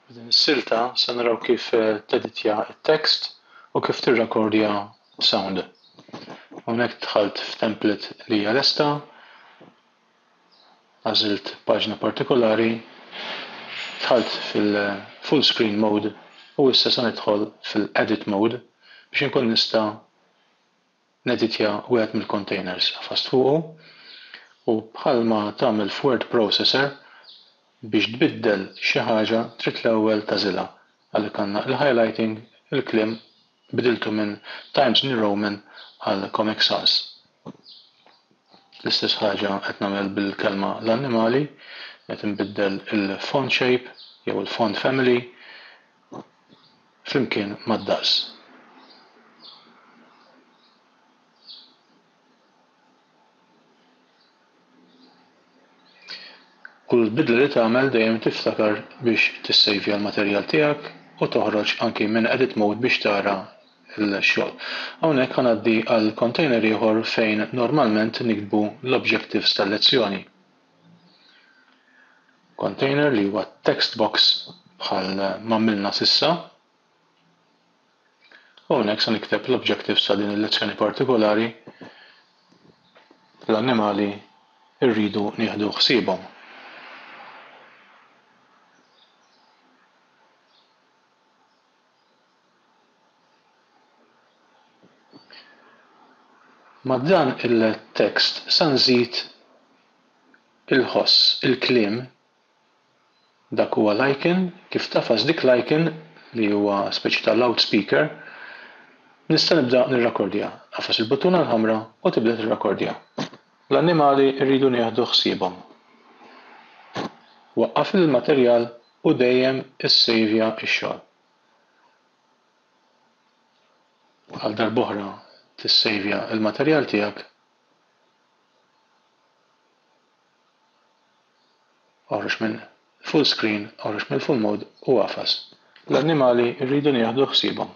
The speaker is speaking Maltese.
F'din is-silta se naraw kif teditja t-text u kif tirrekordja sound. Hawnhekk dħalt f'template li hija lesta, għażilt paġna partikolari, dħalt fil-full screen mode u issa se nidħol fil-edit mode biex inkun nista' Neditja wieħed mill-containers. Għafast fuqu u bħalma tagħmel f'word processor biex tbiddel xi ħaġa trid l-ewwel tagħżilha. Għalhekk għandna il-highlighting, il-kliem bdiltu minn Times New Roman għal Comic Sans. L-istess ħaġa qed nagħmel bil-kelma l-annimali, qed inbiddel il-font shape jew il-font family flimkien mad-daqs. Kull bidla li tagħmel dejjem tiftakar biex tissejvja l-materjal tiegħek u toħroġ anki minn edit mode biex tara l-xogħol. Hawnhekk ħa ngħaddi għal container ieħor fejn normalment niktbu l-objectives tal-lezzjoni. Container li huwa text box bħal m'għamilna s'issa. U hawnhekk se nikteb l-objectives ta' din il-lezzjoni partikolari l-annimali rridu nieħdu ħsiebhom. Ma' dan il-text sa nżid il-ħoss, il-kliem, dak huwa l-icon, kif tagħfas dik l-icon li huwa speċi ta' loudspeaker, nista' nibda nirrakordja. Agħfas il-buttuna l-ħamra u tibda tirrakordja. L-annimali rridu nieħdu ħsiebhom. Waqqaf il-materjal u dejjem issejvja x-xogħol. Għal darb'oħra tissejvja l-materjal tiegħek. Oħroġ minn full screen, oħroġ mill-full mode u agħfas. L-annimali rridu nieħdu ħsiebhom.